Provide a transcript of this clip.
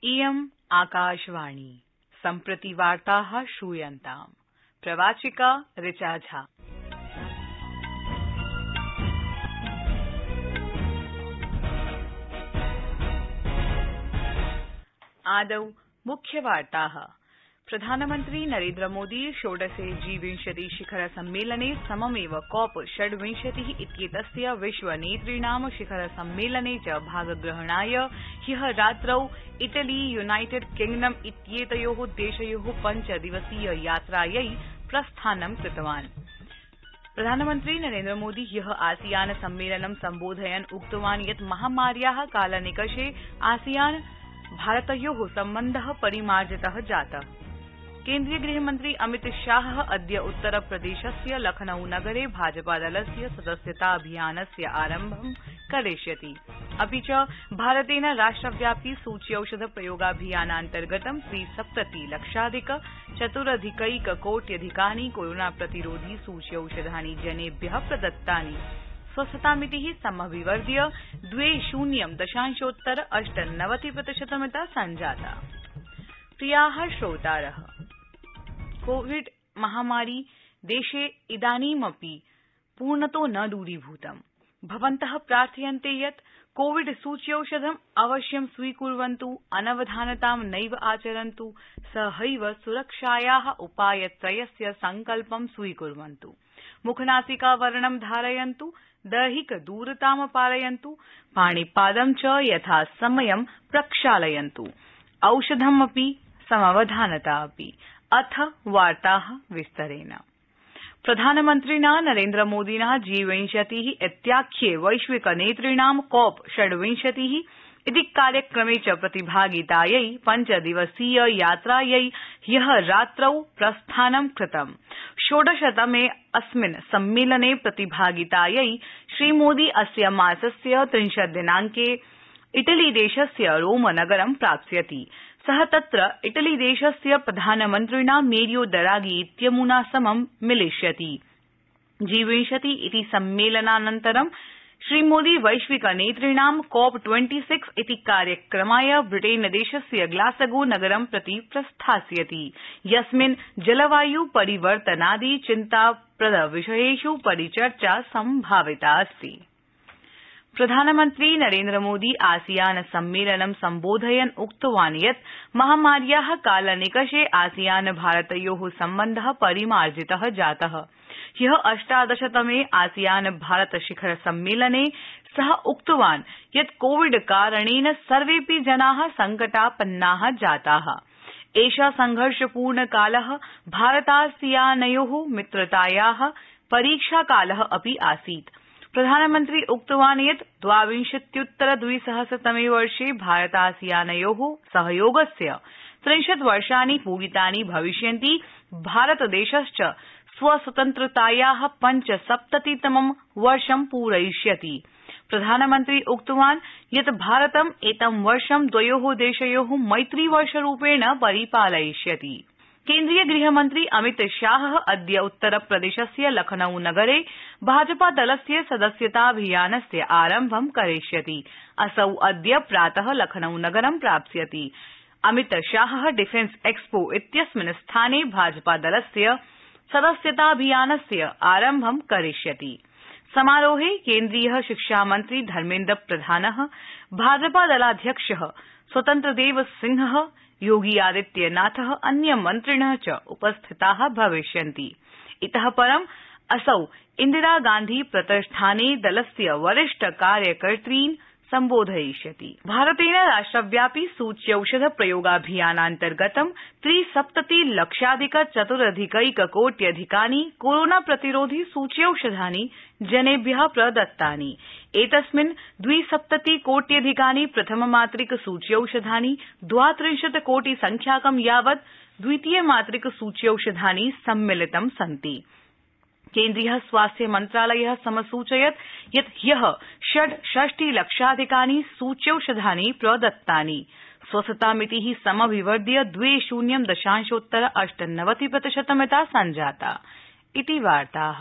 इयम् आकाशवाणी सम्प्रति वार्ताः श्रूयन्ताम् प्रवाचिका ऋचा झा। आदौ मुख्यवार्ताः। प्रधानमन्त्री नरेन्द्र मोदी षोडशे G20 शिखर सम्मेलने सममेव COP 26 इत्येतस्य विश्व नेतृणां शिखर सम्मेलने च भागग्रहणाय ह्यः रात्रौ इटली यूनाइटेड किंगडम इत्येतयोः देशयोः 5 दिवसीय यात्रायै प्रस्थानं कृतवान्। प्रधानमन्त्री नरेन्द्र मोदी ह्यः आसियान सम्मेलनं सम्बोधयन् उक्तवान् यत् महामार्याः कालनिकषे आसियान भारतयोः सम्बन्धः परिमार्जितः जातः। केन्द्रीय गृहमन्त्री अमित शाह अद्य उत्तरप्रदेशस्य लखनऊ नगरे भाजपादलस्य सदस्यताभियानस्य आरम्भं करिष्यति। अपि च भारतेन राष्ट्रव्यापि सूच्यौषध प्रयोगाभियानान्तर्गतं 370,04,अधिकैककोट्यधिकानि कोरोना प्रतिरोधि सूच्यौषधानि जनेभ्यः प्रदत्तानि। स्वस्थतामितिः समभिवर्ध्य 20.8% संजाता। प्रियाः श्रोतारः, कोविड महामारी देशे इदानीमपि पूर्णतो न दूरीभूतम्। भवन्तः प्रार्थयन्ते यत् कोविड सूच्यौषधम् अवश्यं स्वीकुर्वन्तु, अनवधानतां नैव आचरन्तु, सहैव सुरक्षायाः उपायत्रयस्य सङ्कल्पं स्वीकुर्वन्तु। मुखनासिकावरणं धारयन्तु, दैहिकदूरतां पालयन्तु, पाणिपादं च यथासमयं प्रक्षालयन्तु, औषधमपि समवधानता अपि। अथ वार्ताः विस्तरेण। प्रधानमन्त्रिणा नरेन्द्र मोदिना G20 इत्याख्ये वैश्विक नेतृणां COP 26 इति कार्यक्रमे च प्रतिभागितायै 5 दिवसीय यात्रायै ह्यः रात्रौ प्रस्थानं कृतम्। षोडशतमे अस्मिन् सम्मेलने प्रतिभागितायै श्रीमोदी अस्य मासस्य 30 दिनाङ्के इटलीदेशस्य रोम नगरं प्राप्स्यति। सः तत्र इटलीदेशस्य प्रधानमन्त्रिणा मेरियो डरागी इत्यमुना समं मिलिष्यति। G20 इति सम्मेलनानन्तरं श्रीमोदी वैश्विक नेतृणां COP 26 इति कार्यक्रमाय ब्रिटेनदेशस्य ग्लासगो नगरं प्रति प्रस्थास्यति, यस्मिन् जलवायु परिवर्तनादि चिन्ताप्रद विषयेषु परिचर्चा सम्भाविता अस्ति। प्रधानमन्त्री नरेन्द्र मोदी आसियान सम्मेलनं सम्बोधयन् उक्तवान् यत् महामार्याः कालनिकषे आसियान भारतयोः सम्बन्धः परिमार्जितः जातः। ह्यः 18तमे आसियान भारत शिखर सम्मेलने सः उक्तवान् यत् कोविड कारणेन सर्वेऽपि जनाः सङ्कटापन्नाः जाताः। एषः संघर्षपूर्णकालः भारतासियानयोः मित्रतायाः परीक्षाकालः अपि आसीत्। प्रधानमन्त्री उक्तवान् यत् 22-2000तमे वर्षे भारतासियानयोः सहयोगस्य 30 वर्षाणि पूरितानि भविष्यन्ति। भारतदेशश्च स्वस्वतन्त्रतायाः 75तमं वर्षं पूरयिष्यति। प्रधानमन्त्री उक्तवान् यत् भारतम् एतं वर्षं द्वयोः देशयोः मैत्रीवर्षरूपेण परिपालयिष्यति। केन्द्रीय गृहमन्त्री अमित शाह अद्य उत्तरप्रदेशस्य लखनऊ नगरे भाजपादलस्य सदस्यताभियानस्य आरम्भं करिष्यति। असौ अद्य प्रातः लखनऊ नगरं प्राप्स्यति। अमित शाह डिफेन्स एक्सपो इत्यस्मिन् स्थाने भाजपादलस्य सदस्यताभियानस्य आरम्भं करिष्यति। समारोहे केन्द्रीय शिक्षामन्त्री धर्मेन्द्र प्रधानः, भाजपादलाध्यक्षः स्वतन्त्रदेव सिंहः, योगी आदित्यनाथः, अन्यमन्त्रिणः च उपस्थिताः भविष्यन्ति। इतः परम् असौ इन्दिरागान्धी प्रतिष्ठाने दलस्य वरिष्ठ कार्यकर्तॄन् सम्बोधयिष्यति। भारतेन राष्ट्रव्यापि सूच्यौषध प्रयोगाभियानान्तर्गतं 370,04,अधिकैककोट्यधिकानि कोरोना प्रतिरोधि सूच्यौषधानि जनेभ्यः प्रदत्तानि। एतस्मिन् 270 प्रथममात्रिक सूच्यौषधानि, 32 कोटि संख्याकं यावत् द्वितीय मात्रिक सूच्यौषधानि सम्मिलितं सन्ति। केन्द्रीय स्वास्थ्य मन्त्रालयः समसूचयत् यत् ह्यः 66,00,000 सूच्यौषधानि प्रदत्तानि। स्वस्थतामितिः समभिवर्ध्य 20.98% संजाता। इति वार्ताः।